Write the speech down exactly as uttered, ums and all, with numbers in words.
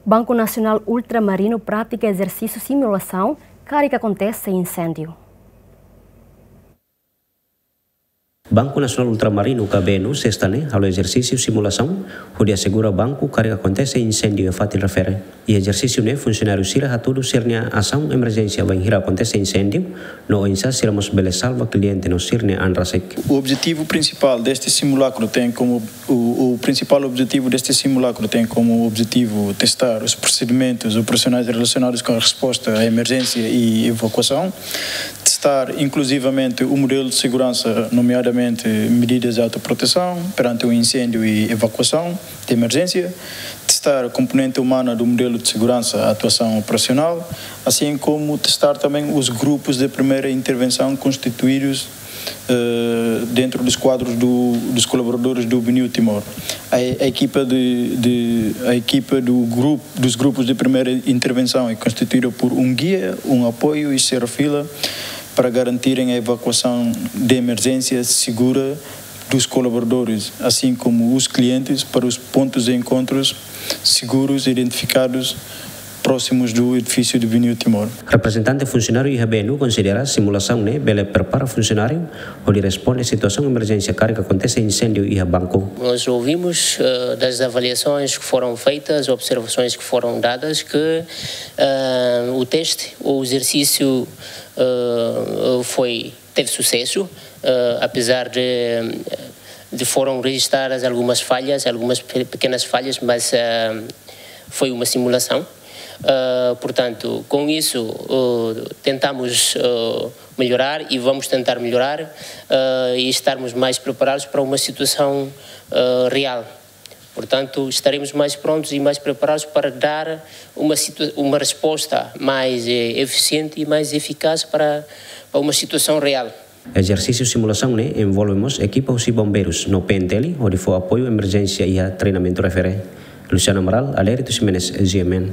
Banku Nasionál Ultramarinu pratika ezersísiu simulasaun karik akontese inséndiu. Banku Nasionál Ultramarinu ka B N U sesta ne'e halo ezersísiu simulasaun hodi asegura banku karik akontese inséndiu iha fatin refere. Iha ezersísiu ne'e funsionáriu sira hatudu sira-nia asaun emerjénsia bainhira akontese inséndiu, no oinsá sira mós bele salva kliente no sira-nia an rasik. O objetivo principal deste simulacro tem como, o, o principal objetivo deste simulacro tem como objetivo testar os procedimentos operacionais relacionados com a resposta à emergência e evacuação, testar inclusivamente o modelo de segurança, nomeadamente medidas de autoproteção perante um incêndio e evacuação de emergência, testar a componente humana do modelo de segurança, atuação operacional, assim como testar também os grupos de primeira intervenção constituídos, eh, dentro dos quadros do, dos colaboradores do BNIU Timor. A, a equipa de, de, a equipa do grupo, dos grupos de primeira intervenção é constituída por um guia, um apoio e serafila para garantirem a evacuação de emergência segura dos colaboradores, assim como os clientes, para os pontos de encontros seguros identificados próximos do edifício do BNIU Timor. Reprezentante funsionáriu iha B N U konsidera simulasaun ne'e bele prepara funsionáriu hodi responde situasaun emerjénsia karik akontese inséndiu iha banku. Nós ouvimos, eh, das avaliações que foram feitas, observações que foram dadas, que, eh, o teste ou o exercício, eh, foi, teve sucesso, eh, apesar de, de foram registradas algumas falhas, algumas pe-, pequenas falhas, mas, eh, foi uma simulação. Eh, portanto, com isso, eh, tentamos, eh, melhorar e vamos tentar melhorar, eh, e estarmos mais preparados para uma situação, eh, real. Portanto, estaremos mais prontos e mais preparados para dar uma situa-, uma resposta mais, eh, eficiente e mais eficaz para, para uma situação real. Ezersísiu simulasaun ne'e envolve mós ekipa husi bombeirus no P N T L hodi fó apoiu emerjénsia iha treinamentu refere. Luciano Amaral, Alérito Ximenes, G M N.